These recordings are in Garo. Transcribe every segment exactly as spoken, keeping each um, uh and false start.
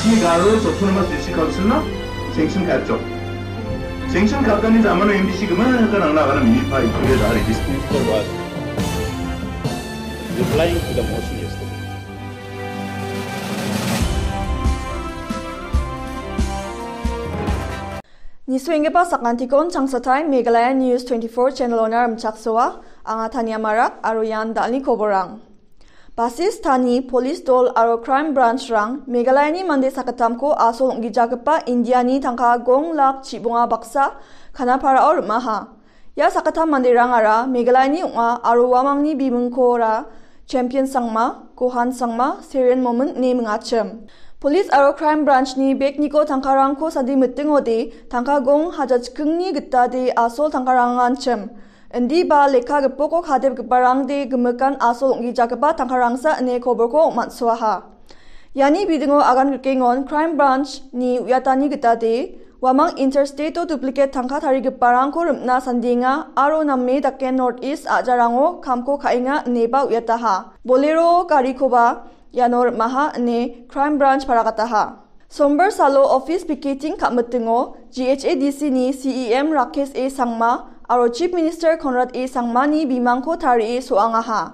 He Garo Autonomous District Council-na sanction ka·atjok. Sanction ka·atani jamano M D C gimikgipa nangna agana minipa ikuria da·a registry. Mister Bhatt, replying to the motion yesterday. Nisuenggipa sakantikon changsatai Meghalaya News twenty-four channel-ona rimchaksoa, anga Tania Marak aro ian da·alni koborang. Basis thani police dol aro crime branch-rang Meghalayani mande sakgittamko asol ong·gijagipa Indiani tangka gong lak chibonga baksa Kanaparao rim·aha. Ia sakgittam manderangara Meghalayani ong·a aro uamangni bimingkora Champion Sangma, Gohan Sangma, Seren Momin ine mingachim. Police aro crime branch-ni bag-niko tangkarangko sadi mitingode tangka gong haja chikingni gitade asol tangkaranganchim. Indiba lekka gipoko kadepgiparangde gimikan asol ong·gijagipa tangkarangsa ine koborko ong·mansoaha. Iani bidingo agan rikengon crime branch-ni uiatani gitade uamang interstate-o duplicate tangka tarigiparangko rim·na sandenga aro name dake North East a·jarango kamko ka·enga ineba uiataha. Bolero garikoba iano rim·aha ine crime branch paragataha. Sombar salo office picketing ka·mitingo G H A D C-ni C E M Rakesh A Sangma aro Chief Minister Conrad A Sangmani bimangko tarie so·angaha.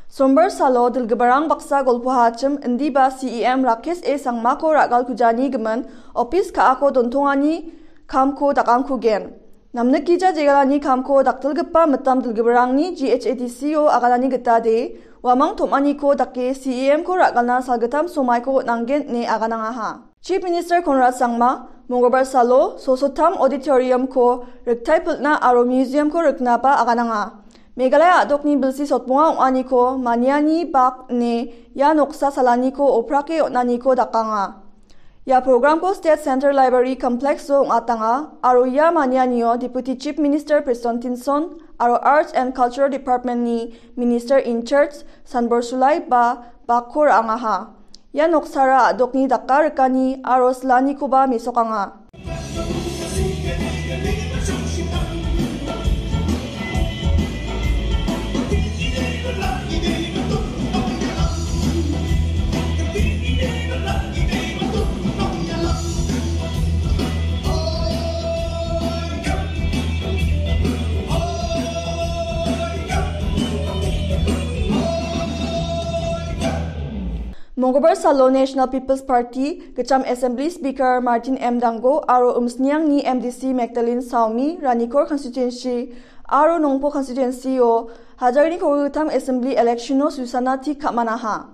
Sombar salo dilgiparang baksa golpohachim indiba C E M Rakesh A Sangmako ra·galkujani gimin office ka·ako dontongani kamko dakangkugen. Namnikija jegalani kamko dakdilgipa mitam dilgiparangni G H A D C-o aganani gitade uamang tom·aniko dake C E M-ko ra·galna salgittam somaiko on·angen ine aganangaha. Chief Minister Conrad Sangma Mongolbar salo Sosotam Auditorium-ko riktaipilna aro museum-ko riknaba agananga. Meghalaya a·dokni bilsi sotmonga ong·aniko maniani bak ine ia noksa salaniko oprake on·aniko dakanga. Ia programko State Central Library Complex-o ong·atanga aro ia manianio Deputy Chief Minister Prestone Tynsong aro Arts and Culture Department-ni Minister in charge Sanbor Sulai ba bakko ra·angaha. Ia noksara a·dokni daka rikani aro silanikoba mesokanga. Mongolbar salo National People's Party, Gitcham Assembly Speaker Martin M Dango aro Umsniangni M D C Magdalene Saomi, Ranikor Constituency aro Nongpo Constituency-o hajarni kolgrittam Assembly election-o susana tik ka·manaha.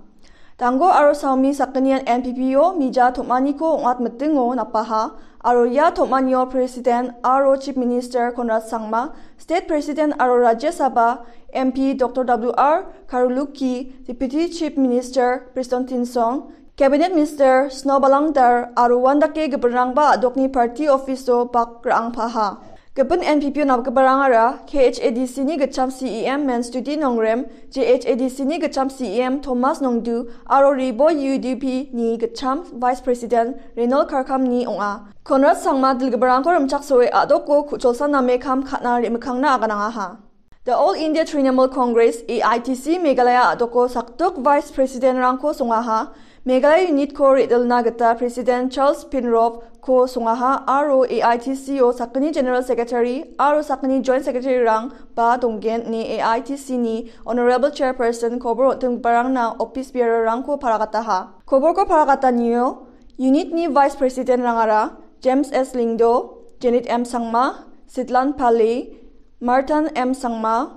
Dango aro Saomi sakgnian N P P-o mija tom·aniko ong·atmitingo napaha aro ia tom·anio President aro Chief Minister Conrad Sangma, State President aro Rajya Sabha M P Doctor W R Kharlukhi, Deputy Chief Minister Prestone Tynsong, Cabinet Minister Snowbalang Dhar aro uandake gipinrangba a·dokni party office-o bak ra·angpaha. Gipin N P P-o napgiparangara K H A D C-ni gitcham C E M Menstuti Nongrem, J H A D C-ni gitcham C E M Thomas Nongdu aro Ri Bhoi U D P-ni gitcham Vice President Renol Kharkamni ong·a. Conrad Sangma dilgiparangko rimchaksoe a·doko ku·cholsa name kam ka·na re·mikkangna aganangaha. The All India Trinamool Congress, A I T C, Meghalaya a·doko sakdok Vice President-rangko songaha, Meghalaya unit-ko re·dilna gita President Charles Pinrop-ko songaha aro A I T C-o sakgni General Secretary aro sakgni Joint Secretary-rang ba donggen ine A I T C-ni Honorable Chairperson kobor on·tenggiparangna office bearer-rangko paragataha. Koborko paragatanio unit-ni Vice President-rangara James S Lyngdoh, Janet M Sangma, Sidlan Pale, Martin M Sangma,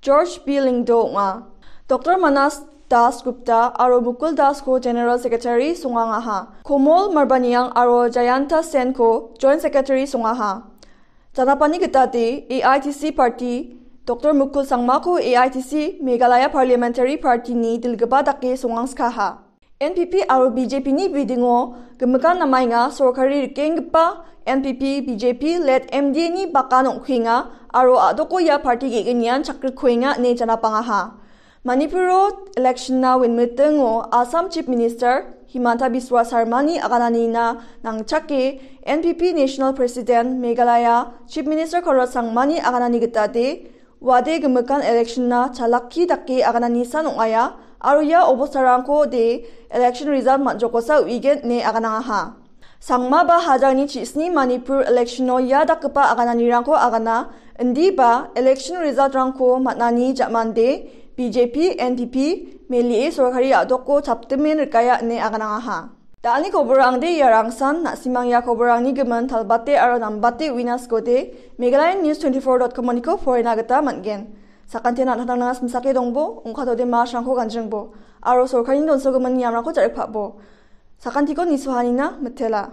George B Lyngdoh ong·a. Doctor Manas Das Gupta aro Mukul Das-ko General Secretary songangaha. Komol Marbaniang aro Jayanta Sen-ko Joint Secretary songaha. Janapani gitade A I T C party Doctor Mukul Sangmako A I T C Meghalaya Parliamentary Party-ni dilgipa dake songangskaha. N P P aro B J P-ni bidingo gimikan namaenga sorkari rikenggipa N P P, B J P led M D A-ni bakan ong·kuenga aro a·doko ia parti ge·gnian chakrikkuenga ine janapangaha. Manipuro election-na winmitingo Assam Chief Minister Himanta Biswa Sarmani agananina nangchake N P P National President Meghalaya Chief Minister Conrad Sangmani aganani gitade wade gimikan election-na chalakki dake agananisan ong·aia, Aro ia obostarangko de election result man·jokosa uigen ine aganangaha. Sangma ba hajangni chisni Manipur election-o ia dakgipa agananirangko agana, indiba election result-rangko man·ani ja·mande B J P, N P P melie sorkari a·doko chaptimen rikaya ine aganangaha. Da·alni koborangde iarangsan, na·simang ia koborangni gimin talbate aro nambate uina sikode, Meghalaya News twenty-four dot com-oniko porina gita man·gen. Sakantian an·tangtangna simsake dongbo, ongkatode masrangko ganjingbo, aro sorkarini donsogimin niamrangko jaripabo. Sakantiko nisohanina mitela.